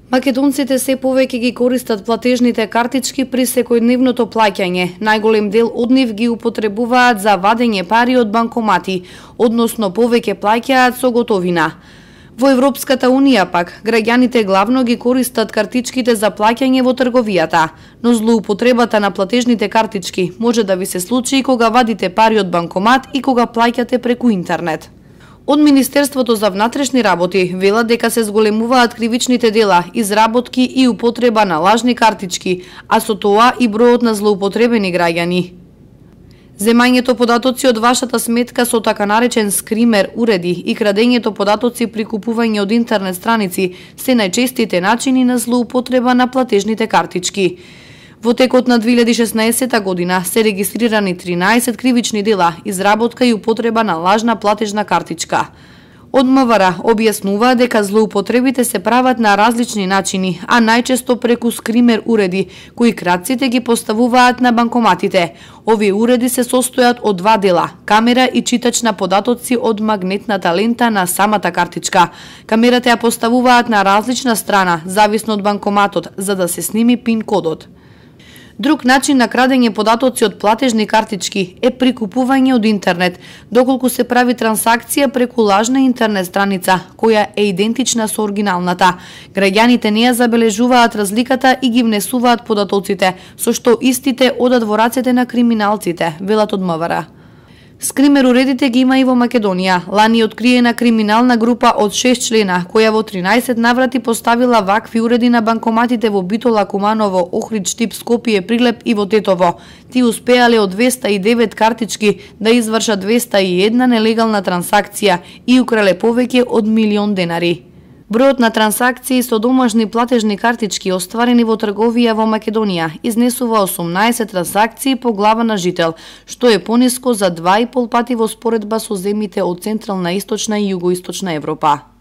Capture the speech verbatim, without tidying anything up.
Македонците се повеќе ги користат платежните картички при секојдневното плаќање. Најголем дел од нив ги употребуваат за вадење пари од банкомати, односно повеќе плаќаат со готовина. Во Европската Унија пак, граѓаните главно ги користат картичките за плаќање во трговијата, но злоупотребата на платежните картички може да ви се случи кога вадите пари од банкомат и кога плаќате преку интернет. Од Министерството за внатрешни работи велат дека се зголемуваат кривичните дела, изработки и употреба на лажни картички, а со тоа и бројот на злоупотребени граѓани. Земањето податоци од вашата сметка со така наречен скример уреди и крадењето податоци при купување од интернет страници се најчестите начини на злоупотреба на платежните картички. Во текот на две илјади и шеснаесетта година се регистрирани тринаесет кривични дела, изработка и употреба на лажна платежна картичка. Од МВР објаснува дека злоупотребите се прават на различни начини, а најчесто преку скример уреди, кои крадците ги поставуваат на банкоматите. Овие уреди се состојат од два дела – камера и читач на податоци од магнетната лента на самата картичка. Камерата ја поставуваат на различна страна, зависно од банкоматот, за да се сними пин кодот. Друг начин на крадење податоци од платежни картички е при купување од интернет, доколку се прави трансакција преку лажна интернет страница, која е идентична со оригиналната. Граѓаните не ја забележуваат разликата и ги внесуваат податоците, со што истите одат во рацете на криминалците, велат од МВР. Скример уредите ги има и во Македонија. Лани откриена криминална група од шест члена, која во тринаесет наврати поставила вакви уреди на банкоматите во Битола, Куманово, Охрид, Штип, Скопје, Прилеп и во Тетово. Ти успеале од двеста и девет картички да извршат двеста и една нелегална трансакција и украле повеќе од милион денари. Бројот на трансакции со домашни платежни картички остварени во трговија во Македонија изнесува осумнаесет трансакции по глава на жител, што е пониско за два и пол пати во споредба со земјите од Централна, Источна и Југоисточна Европа.